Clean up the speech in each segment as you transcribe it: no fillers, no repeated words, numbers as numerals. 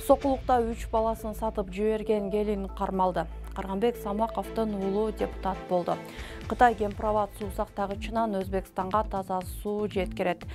Сокулукта 3 баласын сатып жиберген келин кармалды. Карганбек Самаковдун уулу депутат болду. Кытай Гемпроват суу сактагычынан Өзбекстанга таза суу жеткирет.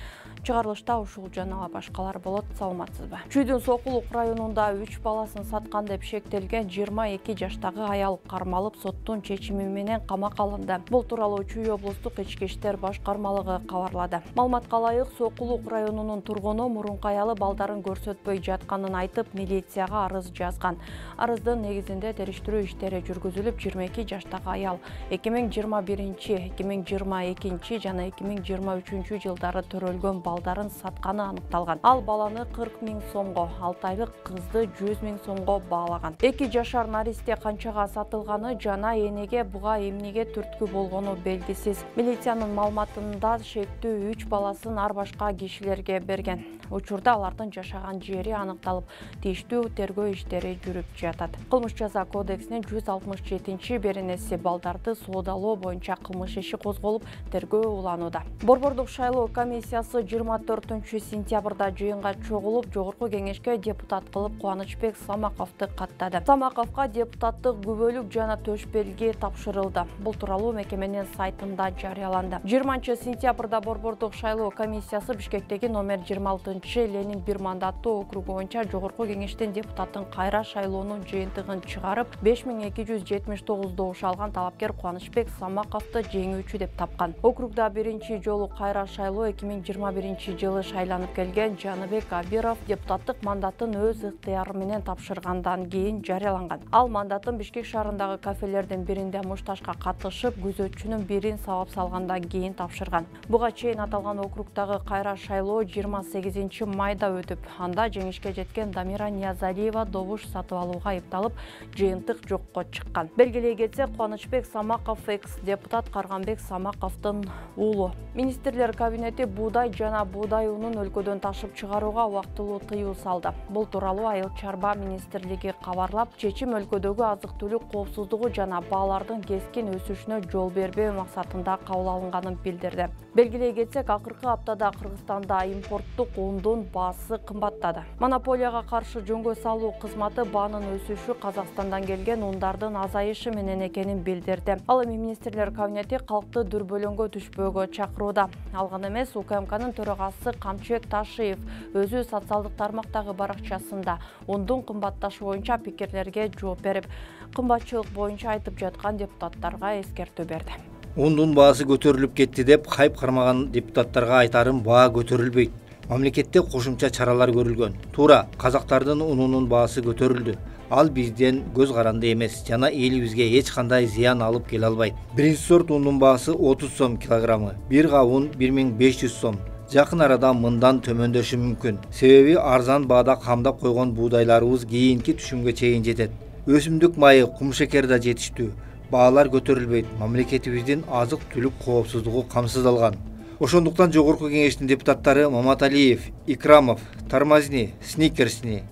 Чыгарылышта ушул жана башкалар болот. Саламатсызбы? Чүйдүн Сокулук районунда 3 баласын саткан деп шектелген 22 жаштагы аял кармалып, соттун чечими менен камакка алынды. Бул тууралуу Чүй облустук ички иштер башкармалыгы кабарлады. Маалыматка ылайык, Сокулук районунун тургуну мурунку аялы балдарын көрсөтпөй жатканын айтып, милицияга арыз жазган. Арыздын негизинде териштирүү иштери жүргүзүлүп, 22 жаштагы аял 2021, 2022 жана 2023 жылдары төрөлгөн балдарын сатканы аныкталган. Ал баланы 40 000 сомго, 6 айлык кызды 100 000 сомго баалаган. 2 жашар наристе канчага сатылганы жана энеге буга эмнеге түрткү болгону белгисиз. Милициянын маалыматында шектүү 3 баласын ар башка кишилерге берген. Учурда алардын жашаган жери аныкталып, тийиштүү тергөө иштери жүрүп жатат. Кылмыш жаза кодексинин 167 беренеси балдарды соодалоо боюнча кылмыш иши козголуп, тергөө уланууда. Борбордук шайлоо комиссиясы 24 сентябрда жыйынга чогулуп, жогорку кеңешке депутат кылып Кубанычбек Самаковду каттады. Самаковго депутаттык күбөлүк жана төш белги тапшырылды. Бул тууралуу мекеменин сайтында жарыяланды. 20 сентябрда борбордук шайлоо комиссиясы Бишкектеги номер 26 Ленин бир мандаттуу округу боюнча жогорку кеңештин депутатын кайра шайлоонун жыйынтыгын чыгарып, 5279 добуш алган талапкер Кубанычбек Самаковду жеңүүчү деп тапкан. Округда биринчи жолу кайра шайлоо 2021 жылы шайланып келген Жаныбек Абиров депутаттык мандатын өз ыктыяры менен тапшыргандан кийин жарыяланган. Ал мандатын Бишкек шаарындагы кафелердин биринде муштажга катышып, күзөтчүнүн бирин сабап салгандан кийин тапшырган. Буга чейин аталган округдагы кайра шайлоо 28 майда өтүп, анда жеңишке жеткен Дамира Ниязалиева добуш сатып алууга айыпталып, жыйынтык жокко чыккан. Белгилей кетсек, Кубанычбек Самаков экс-депутат Карганбек Самаковдун уулу. Министрлер кабинети буудай жана буудай унун өлкөдөн ташып чыгарууга убактылуу тыюу салды. Бул тууралуу Айыл чарба министрлиги кабарлап, чечим өлкөдөгү азык-түлүк коопсуздугу жана баалардын кескин өсүшүнө жол бербөө максатында кабыл алынганын билдирди. Белгилей кетсек, акыркы аптада Кыргызстанда импорттук ундун баасы кымбаттады. Монополияга каршы жөнгө салуу кызматы баанын өсүшү Казакстандан келген ундардын азайышы менен экенин билдирди. Ал эми министрлер кабинети калкты дүрбөлөңгө түшпөөгө чакырууда. Ал гана эмес, УКМКнын төрагасы Камчыбек Ташиев өзү социалдык тармактагы баракчасында ундун кымбатташы боюнча пикирлерге жооп берип, кымбатчылык боюнча айтып жаткан депутаттарга эскертүү берди. Ундун баасы көтөрүлүп кетти деп хайп кармаган депутаттарга айтарым, баа көтөрүлбөйт. Мамлекетте кошумча чаралар көрүлгөн. Туура, казактардын унунун баасы көтөрүлдү. Ал бизден көз каранды эмес жана элибизге эч кандай зыян алып келе албайт. Биринчи сорт ундун баасы 30 сом килограммы, бир га ун 1500 сом. Жакын арада мындан төмөндөшү мүмкүн. Себеби арзан баада камдап койгон буудайларыбыз кийинки түшүмгө чейин жетет. Өсүмдүк майы, кумшекер да жетиштүү. Баалар көтөрүлбөйт. Мамлекетибиздин азык-түлүк коопсуздугу камсыздалган. Ошондуктан жогорку кеңештин депутаттары Маматалиев, Икрамов, Тармазни, Сникерсни.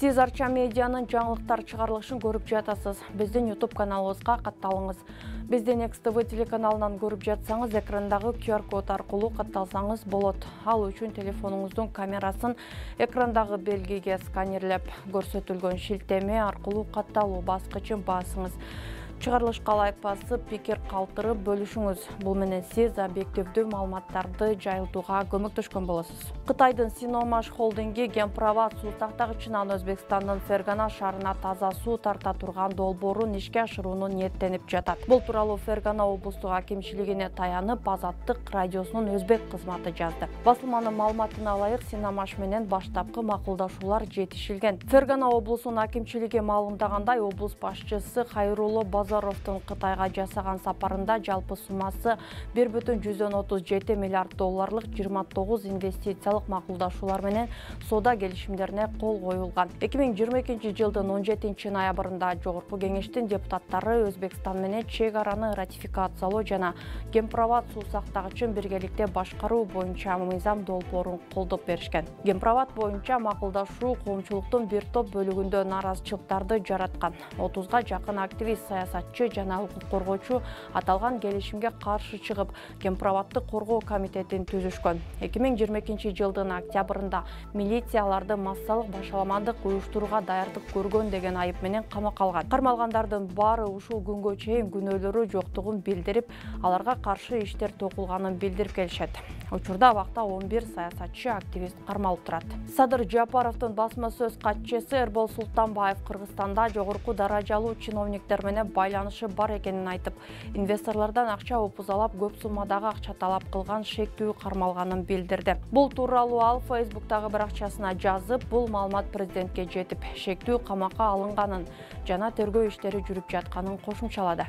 Сиз Арча медианын жаңылыктар чыгарылышын көрүп жатасыз. Биздин YouTube каналыбызга катталыңыз. Биздин XTV телеканалынан көрүп жатсаңыз, экрандагы QR код аркылуу катталсаңыз болот. Ал үчүн телефонуңуздун камерасын экрандагы белгиге сканерлеп, көрсөтүлгөн шилтеме аркылуу катталуу баскычын басыңыз. Чыгарылышка лайк басып, пикир калтырып бөлүшүңүз. Бул менен сиз объективдүү маалыматтарды жайылтууга көмөктөшкөн болосуз. Кытайдын Синомаш холдинги Гемпроват суу тактагычынан Өзбекстандын Фергана шаарына таза суу тарта турган долбоорун ишке ашырууну ниеттенип жатат. Бул тууралуу Фергана облустук акимчилигине таянып, Азаттык радиосунун өзбек кызматы жазды. Басылманын маалыматына ылайык, Синомаш менен баштапкы макулдашуулар жетишилген. Фергана облусунун акимчилиги маалымдагандай, облус башчысы Хайрулло Базаровдун Кытайга жасаган сапарында жалпы суммасы 1,137 миллиард долларлык 29 инвестициялык макулдашуулар менен соода келишимдерине кол коюлган. 2022 жылдын 17 ноябрында жогорку кеңештин депутаттары Өзбекстан менен чек араны ратификациялоо жана Гемпроват суу сактагычын биргеликте башкаруу боюнча мыйзам долбоорун колдоп беришкен. Гемпроват боюнча макулдашуу коомчулуктун бир топ бөлүгүндө нааразычылыктарды жараткан. 30га жакын активист, саясатчы саясатчы жана укук коргоочу аталган келишимге каршы чыгып, Кемпирабадды коргоо комитетин түзүшкөн. 2022 жылдын октябрында милиция аларды массалык башаламандык уюштурууга даярдык көргөн деген айып менен камакка алган. Кармалгандардын баары ушул күнгө чейин күнөөлөрү жоктугун билдирип, аларга каршы иштер токулганын билдирип келишет. Учурда абакта 11 саясатчы активист кармалып турат. Садыр Жапаровдун басма сөз катчысы Эрбол Султанбаев Кыргызстанда жогорку даражалуу чиновниктер менен байланышы бар экенин айтып, инвесторлордон акча опузалап, көп суммадагы акча талап кылган шектүү кармалганын билдирди. Бул тууралуу ал Фейсбуктагы баракчасына жазып, бул маалымат президентке жетип, шектүү камакка алынганын жана тергөө иштери жүрүп жатканын кошумчалады.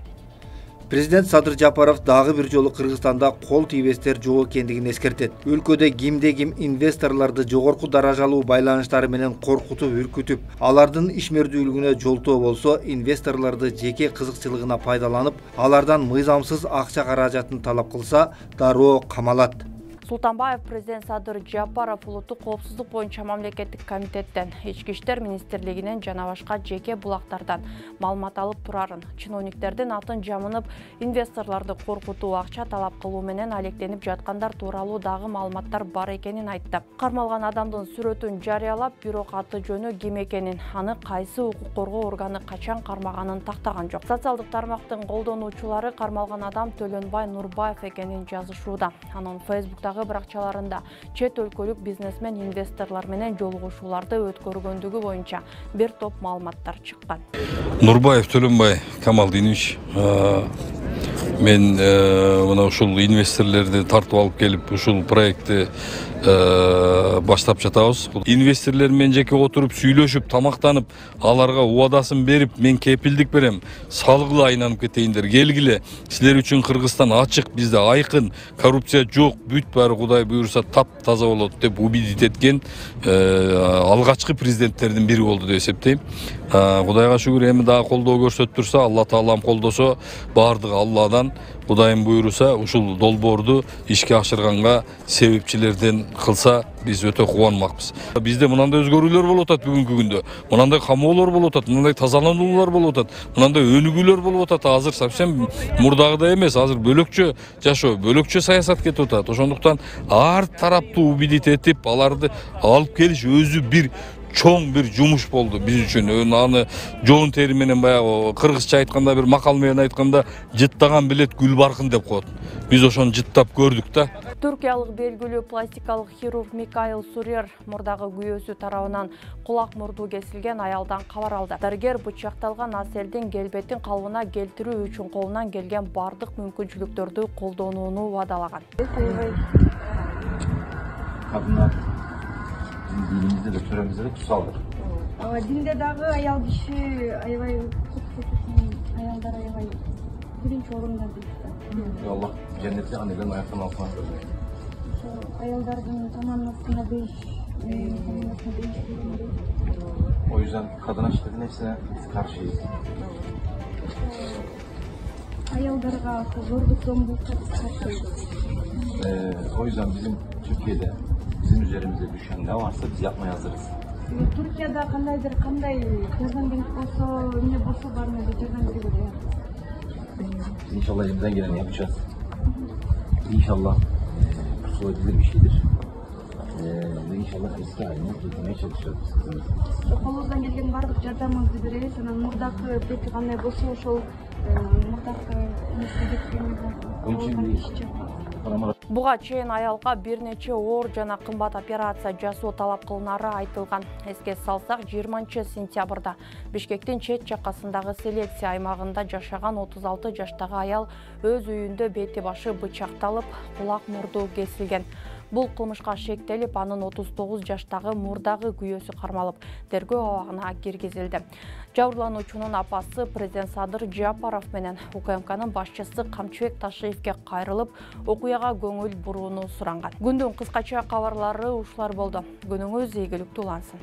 Президент Садыр Жапаров дагы бир жолу Кыргызстанда кол тийбестер жок экендигин эскертет. Өлкөдө кимде-ким инвесторлорду жогорку даражалуу байланыштары менен коркутуп, үркүтүп, алардын ишмердүүлүгүнө жолтоо болсо, инвесторлорду жеке кызыкчылыгына пайдаланып, алардан мыйзамсыз акча каражатын талап кылса, дароо камалат. Султанбаев президент Садыр Жапаров улуттук коопсуздук боюнча мамлекеттик комитеттен, Ички иштер министрлигинен жана башка жеке булактардан маалымат алып турарын, чиновниктердин атын жамынып, инвесторлорду коркутуу, акча талап кылуу менен алектенип жаткандар тууралуу дагы маалыматтар бар экенин айтты. Кармалган адамдын сүрөтүн жарыялап, бирок аты жөнү ким экенин, аны кайсы укук коргоо органы качан кармаганын тактаган жок. Социалдык тармактын колдонуучулары кармалган адам Төлөнбай Нурбаев экенин жазышууда. Анын Фейсбуктагы баракчаларында чет өлкөлүк бизнесмен инвесторлор менен жолугушууларды өткөргөндүгү боюнча бир топ маалыматтар чыккан. Нурбаев Төлөнбай Камалдинович, мен мына ушул инвесторлорду тартып алып келип, ушул проектти баштап жатабыз. Инвесторлор менен жеке отуруп, сүйлөшүп, тамактанып, аларга убадасын берип, мен кепилдик берем, салгыла айланып кетейиндер, келгиле. Силер үчүн Кыргызстан ачык, бизде айкын, коррупция жок, бүт баары Кудай буйруса тап-таза болот деп убедить эткен алгачкы президенттердин бири болду деп эсептейм. Кудайга шүгүр, эми дагы колдоо көрсөтүп турса, Алла Таалам колдосо, баардыгы Алладан, Кудайым буйруса, ушул долбоорду ишке ашырганга себепчилерден кылса, биз өтө кубанмакпыз. Бизде мынандай өзгөрүүлөр болуп атат бүгүнкү күндө. Мынандай камоолор болуп атат, мынандай тазалануулар болуп атат, мынандай өнүгүүлөр болуп атат. Азыр совсем мурдагыдай эмес, азыр бөлөкчө жашоо, бөлөкчө саясат кетип атат. Ошондуктан ар тараптуу убедить этип, аларды алып келиш өзү бир чоң бир жумуш болду биз үчүн. Аны жоон тери менен баягы кыргызча айтканда, бир макал менен айтканда, жыттаган билет гүл баркын деп коет. Биз ошону жыттап көрдүк да. Түркиялык белгилүү пластикалык хирург Микаил Сурер мурдагы күйөөсү тарабынан кулак мурду кесилген аялдан кабар алды. Дарыгер бычакталган Аселдин келбетин калыбына келтирүү үчүн колунан келген бардык мүмкүнчүлүктөрдү колдонууну убадалаган. Dinimizde de töremizde de kutsaldır. Dinde dağı ayal kişi ayvay ayallar ayvay birinci orunda değil. Allah cenneti anneden ayaktan altına koyuyor. Ayalların tamamlasına değiş. O yüzden kadın aşkların hepsine karşıyız. Ayallarga zorluk zombulukta karşıyız. O yüzden bizim Türkiye'de bizim üzerimize düşen ne varsa biz yapmaya hazırız. Türkiye'de kanday kazangenlik olsa, ne bolsa var mı diye kazangenlik. İnşallah elimizden geleni yapacağız. İnşallah kusura edilir bir şeydir. Ve inşallah eski haline getirmeye çalışacağız. Kolunuzdan gelgen bardıq jardamыңызды беребиz. Анан мурдакы бети кандай болсо ошол мурдакы Буга чейин аялга бир нече оор жана кымбат операция жасоо талап кылынары айтылган. Эске салсак, 20-сентябрда Бишкектин чет жакасындагы селекция аймагында жашаган 36 жаштагы аял өз үйүндө бети башы бычакталып, кулак мурду кесилген. Бул кылмышка шектелип, анын 39 жаштагы мурдагы күйөөсү кармалып, тергөө абагына киргизилди. Жабырлануучунун апасы президент Садыр Жапаров менен УКМКнын башчысы Камчыбек Ташиевке кайрылып, окуяга көңүл бурууну суранган. Күндүн кыскача кабарлары ушулар болду. Күнүңүз ийгиликтүү улансын.